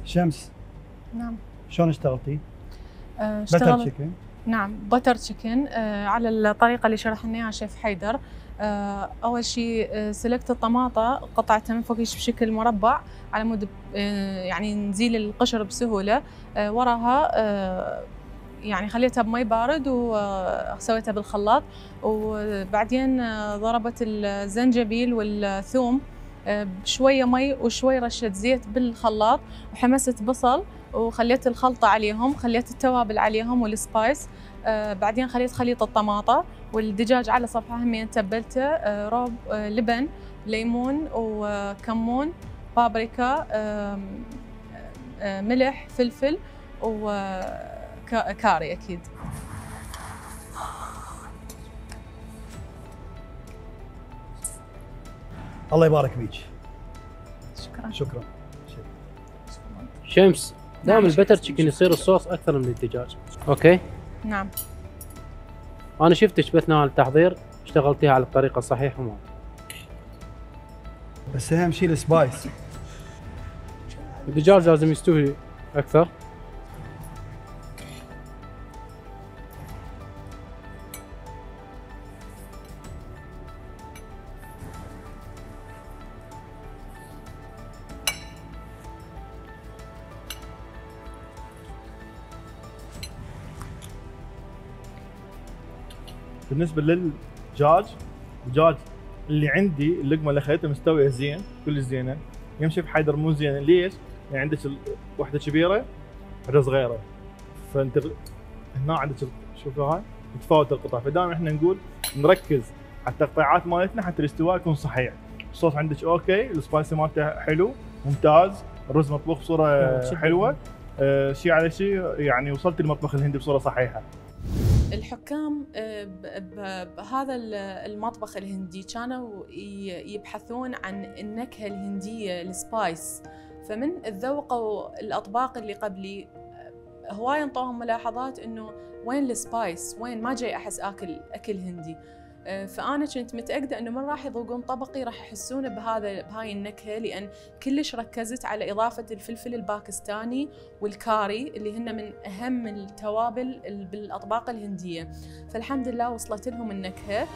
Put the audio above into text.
شمس، نعم. شلون اشتغلتي؟ اشتغلت بتر تشيكن. نعم بتر تشيكن على الطريقة اللي شرح لنا اياها شيف حيدر. أول شيء سلقت الطماطة قطعتها من فوقيش بشكل مربع على مود يعني نزيل القشر بسهولة. وراها يعني خليتها بمي بارد وسويتها بالخلاط، وبعدين ضربت الزنجبيل والثوم بشوية مي وشوي رشة زيت بالخلاط، وحمست بصل وخليت الخلطة عليهم، خليت التوابل عليهم والسبايس. بعدين خليت خليط الطماطة والدجاج على صفحة همين تبلته روب لبن ليمون وكمون بابريكا ملح فلفل وكاري أكيد. الله يبارك بيك. شكرا. شكرا. شمس، دائما البتر تشيكن يصير الصوص اكثر من الدجاج. اوكي؟ نعم. انا شفتك باثناء التحضير اشتغلتيها على الطريقه الصحيحه معي. بس اهم شيء السبايس. الدجاج لازم يستوي اكثر. بالنسبه للدجاج، الدجاج اللي عندي اللقمه اللي خليتها مستويه زين، كل زينه. يمشي في حيدر مو زينه، ليش؟ يعني عندك واحده كبيره واحده صغيره، فانت هنا عندك شوفوا هاي متفاوت القطع، فدائما احنا نقول نركز على التقطيعات مالتنا حتى الاستواء يكون صحيح. الصوص عندك اوكي، السبايسي مالته حلو ممتاز، الرز مطبوخ بصوره حلوه. شيء على شيء يعني وصلت المطبخ الهندي بصوره صحيحه. الحكام بهذا المطبخ الهندي كانوا يبحثون عن النكهة الهندية السبايس، فمن تذوقوا الأطباق اللي قبلي هواي انطوهم ملاحظات إنه وين السبايس، وين ما جاي أحس أكل هندي. فأنا كنت متأكدة إنه من راح يذوقون طبقي راح يحسون بهاي النكهة، لأن كلش ركزت على إضافة الفلفل الباكستاني والكاري اللي هن من أهم التوابل بالأطباق الهندية، فالحمد لله وصلت لهم النكهة.